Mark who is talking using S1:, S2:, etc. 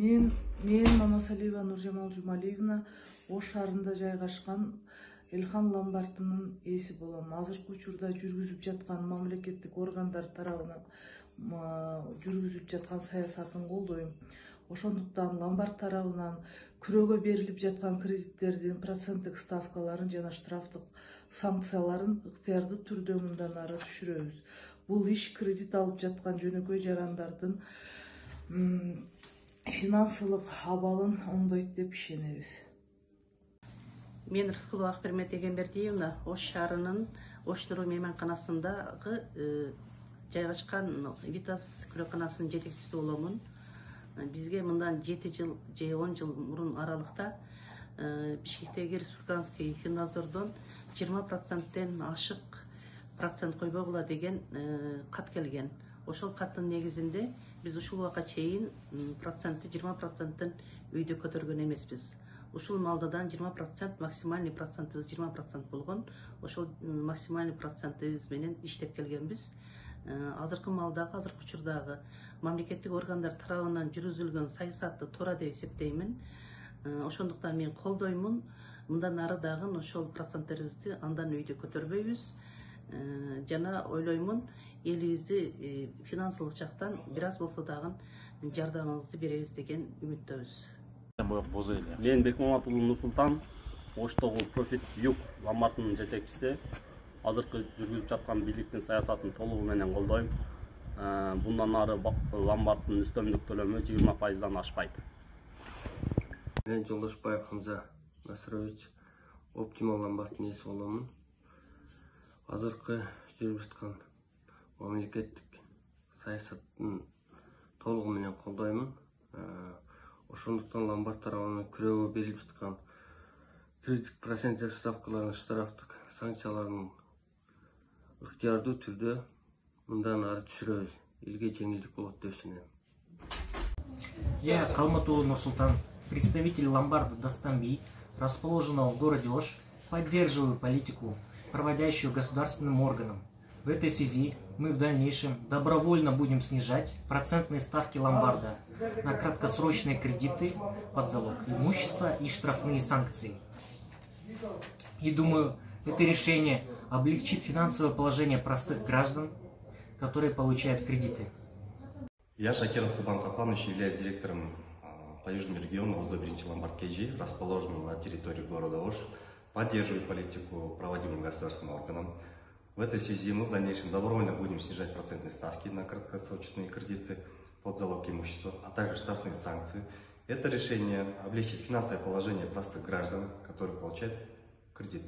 S1: Мен Мамасалиева Нуржамал Жумалиевна Ош шаарында жайгашкан Элхан ломбардынын ээси болом. Азыркы учурда жүргүзүп жаткан мамлекеттик органдар тарабынан жүргүзүп жаткан саясатын колдойм. Ошондуктан ломбард тарабынан күрөөгө берилип жаткан кредиттердин проценттик ставкаларын жана штрафтык санкцияларын ыктыярдуу түрдө мындан ары түшүрөбүз. Бул иш кредит алып жаткан жөнөкөй жарандардын финансылык абалын оңдойт деп ишенебиз.
S2: Мен Рыскулова Акбермет Эгембердиевна Ош шаарынын Ош Нуру мейманканасындагы жайгашкан Витас күрөканасынын жетекчиси боломун. Бизге мындан 7 жыл же 10 жыл мурун аралыкта Бишкектеги республиканский финдозордон 20%тен ашык процент койбогула деген кат келген. Ошол каттын негизинде биз ушул убакка чейин процентти 20%тен үйдө көтөргөн эмеспиз. Ушул малдадан 20%, максимальный процентибиз 20% болгон. Ошол максимальный процентибиз менен иштеп келгенбиз. Азыркы малдагы, азыркы учурдагы мамлекеттик органдар тарабынан жүргүзүлгөн саясатты туура деп эсептеймин. Ошондуктан мен колдоймун. Мындан ары дагы ошол проценттерибизди андан үйдө көтөрбөйбүз. Жана ойлоймун, элибизди финансылык жактан бир аз болсо дагы жардамыбызды беребиз деген үмүттөбүз.
S3: Мен Бекмаматулуу Нурсултан, Оштогу Профит Юг ломбардынын жетекчиси. Азыркы жүргүзүп жаткан бийликтин саясатын толугу менен колдойм. Bundan ары ломбарддын үстөмдүк төлөмү 20%дан ашпайт.
S4: Мен Жолдошбаев Хамза Насырович, Оптимал ломбарддын ээси боломун. Азыркы жүрүп жаткан мамлекеттик саясаттын толугу менен колдоймун. Ошондуктан ломбард тарабынан күрөөгө берилип жаткан кредит проценттик ставкаларын, штрафтык санкцияларын ыктыярдуу түрдө мындан ары түшүрөбүз. Элге жеңилдик болот деп ишенем.
S5: Я, Калматуллу Нурсултан, представитель ломбарда Дастанби, расположенного в городе Ош, поддерживаю политику, проводящую государственным органам. В этой связи мы в дальнейшем добровольно будем снижать процентные ставки ломбарда на краткосрочные кредиты под залог имущества и штрафные санкции. И думаю, это решение облегчит финансовое положение простых граждан, которые получают кредиты.
S6: Я, Шакиров Кубан Капанович, являюсь директором по Южному региону узло-1 ломбард КЖ, расположенного на территории города Ош. Поддерживаю политику, проводимую государственным органом. В этой связи мы в дальнейшем добровольно будем снижать процентные ставки на краткосрочные кредиты под залог имущества, а также штрафные санкции. Это решение облегчит финансовое положение простых граждан, которые получают кредит.